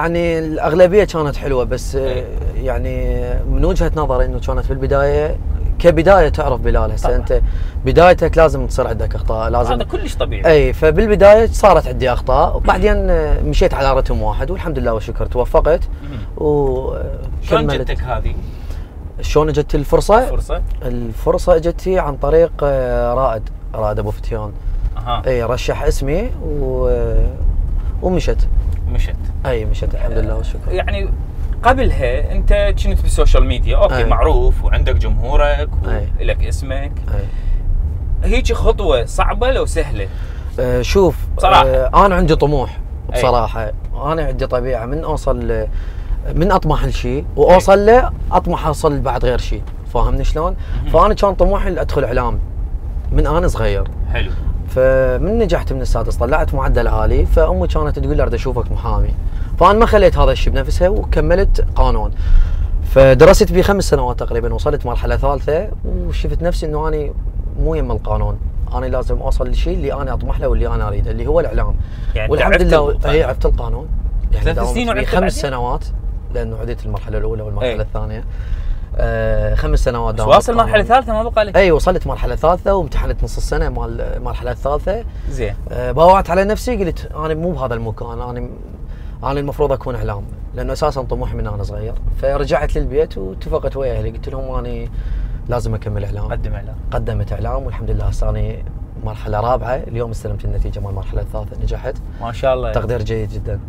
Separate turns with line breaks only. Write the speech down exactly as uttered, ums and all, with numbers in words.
يعني الاغلبيه كانت حلوه بس
أي.
يعني من وجهه نظري انه كانت في البدايه كبدايه تعرف بلال هسه انت بدايتك لازم تصير عندك اخطاء لازم
هذا كلش طبيعي.
اي فبالبدايه صارت عندي اخطاء وبعدين مشيت على رتم واحد والحمد لله والشكر توفقت وكملت.
شلون جتك هذه؟
شلون اجت الفرصه؟
الفرصه
الفرصه اجتي عن طريق رائد رائد ابو فتيان.
اها
اي رشح اسمي و... ومشت
مشت
اي مشت الحمد لله والشكر.
يعني قبلها انت كنت بالسوشيال ميديا اوكي أي. معروف وعندك جمهورك ولك اسمك.
اي
هيك خطوه صعبه لو سهله؟
أه شوف
صراحة.
أه انا عندي طموح بصراحه. أي. انا عندي طبيعه من اوصل من اطمح لشيء واوصل له اطمح اوصل بعد غير شيء، فاهمني شلون؟ فانا كان طموحي ادخل اعلام من انا صغير.
حلو.
فمن نجحت من السادس طلعت معدل عالي فامي كانت تقول لي اريد اشوفك محامي، فانا ما خليت هذا الشيء بنفسها وكملت قانون. فدرست بي خمس سنوات تقريبا وصلت مرحله ثالثه وشفت نفسي انه انا مو يم القانون، انا لازم اوصل للشيء اللي انا اطمح له واللي انا اريده اللي هو الاعلام.
يعني
والحمد لله هي عرفت القانون يعني
ثلاث سنين وعدت
خمس سنوات لانه عديت المرحله الاولى والمرحله
أي.
الثانيه. آه خمس سنوات
داومت. واصل مرحله ثالثه ما بقى لك؟
اي وصلت مرحله ثالثه وامتحنت نص السنه مال المرحله الثالثه.
زين.
آه باوعت على نفسي قلت انا مو بهذا المكان، انا انا المفروض اكون اعلام لانه اساسا طموحي من انا صغير. فرجعت للبيت واتفقت ويا اهلي قلت لهم اني لازم اكمل اعلام.
قدم اعلام.
قدمت اعلام والحمد لله هسه اني مرحله رابعه اليوم استلمت النتيجه مال المرحله الثالثه نجحت.
ما شاء الله.
تقدير جيد جدا.